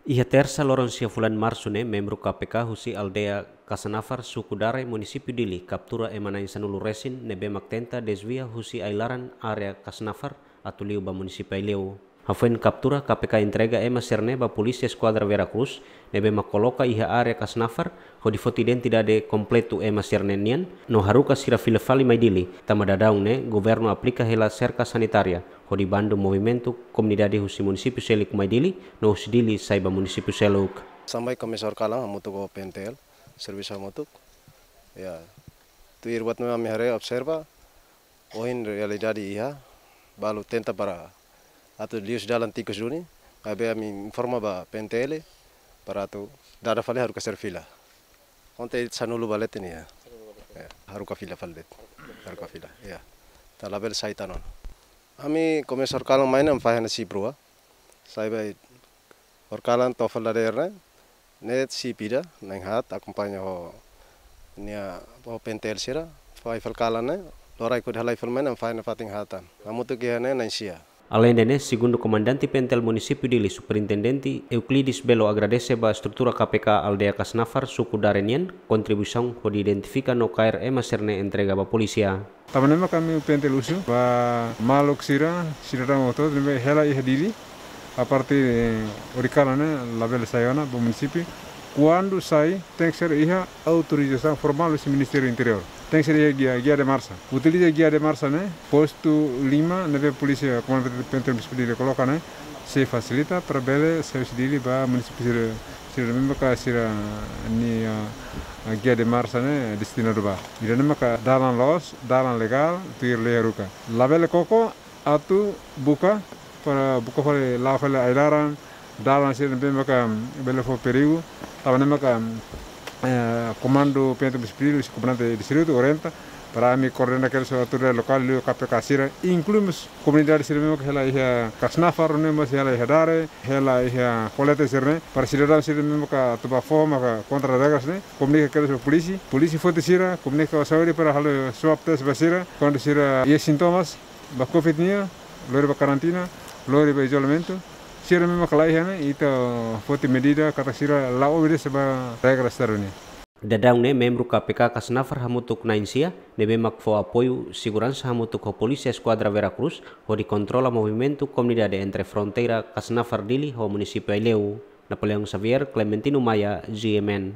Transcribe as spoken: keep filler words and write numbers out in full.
Iha Tersa loron sia fulan Marsu ne'e, membru K P K husi aldeia Kasnafar, suku Dare, munisípiu Dili, kaptura ema na'in sanulu resin ne'ebé mak tenta dezvia husi ai-laran área Kasnafar atu liu ba munisípiu Aileu. Hafoin kaptura, K P K entrega ema sira-ne'e ba Polísia Eskuadra Vera Cruz, ne'ebé mak koloka iha área Kasnafar, hodi foti identidade kompletu ema sira-ne'e nian, no haruka sira fila fali mai Dili, tanba daudaun ne'e governu aplika hela serka sanitária, hodi bandu movimentu komunidade husi munisípiu seluk mai Dili, no husi Dili sai ba munisípiu seluk. Sampai kami sorkalan hamutuk ho P N T L, servisu hamutuk. Ya, tuir buat ne'ebé ami haree observa, ohin realidade iha, balu tenta para atu liu husi dalan tikus duni, maibé ami informa ba P N T L, para atu dada fali haruka sira fila. Konte sanulu ba leten iha. Ya, haruka fila fali de'it. Haruka fila, ya. Ita labele sai tan ona. Ami komesa horikalan mai ne'e ami fahe hanesan sip rua. Sai ba horikalan to'o fali dadeer ne'e, ne'e sip ida, na'in haat, akompaña ho nia, ho P N T L sira, fahe fali kalan ne'e, loraik hodi halai fali mai ne'e, fahe ne'e fatin haat tan. Hamutuk iha ne'e na'in sia. Aleinde ne'e, segundu Komandante P N T L Munisípiu Dili, Superintendente Euclides Belo agradese ba estrutura K P K aldeia Kasnafar, suku Dare nian, kontribuisaun hodi identifika no kaer ema sira-ne'e entrega ba polísia. Tanba ne'e mak ami P N T L husu ba maluk sira, sidadaun hotu-hotu ne'ebé hela iha Dili, aparte, eh, horikalan ne'e labele sai ona ba munisípiu. Kuandu sai, tenke ser iha autorizasaun formál husi Ministériu Interiór. Tenke ser iha guia, guia de marcha. Utiliza guia de marcha ne'e, postu lima, ne'ebé polísia, komandante P N T L Munisípiu Dili koloka ne'e, sei fasilita para bele sai husi Dili ba munisípiu sira, sira ne'ebé maka sira-nia, ah, guia de marcha ne'e destinadu ba. Ida-ne'e maka dalan loos, dalan legál, tuir lei haruka. Labele koko atu buka, para buka fali, la'o fali ai-laran, dalan sira ne'ebé maka bele fó perigu, tanba ne'e maka, eh, komandu P N T Munisípiu Dili, husi komandante distritu orienta, para ami koordena kedas ho autoridade lokál, liu K P K sira, inklui mós komunidade sira ne'ebé maka hela iha Kasnafar, ne'e mós hela iha Dare, hela iha Colete sira-ne'e, para sidadaun sira ne'ebé maka atu bá foho maka kontra regras ne'e, komunika kedas ba polísia, polísia foti sira, komunika ba saúde para halo swab test ba sira, kuandu sira iha sintomas ba covid nian, lori ba karantina, lori ba izolamentu. Sira ne'ebé maka la iha ne'e, ita foti medida katak sira la obedese ba regras Estadu nian. Daudaun ne'e membru K P K Kasnafar hamutuk na'in sia, ne'ebé mak fó apoiu seguransa hamutuk ho Polísia Eskuadra Vera Cruz, hodi kontrola movimentu komunidade entre fronteira Kasnafar Dili ho munisípiu Aileu. Napoleão Xavier, Clementino Maia, G M N.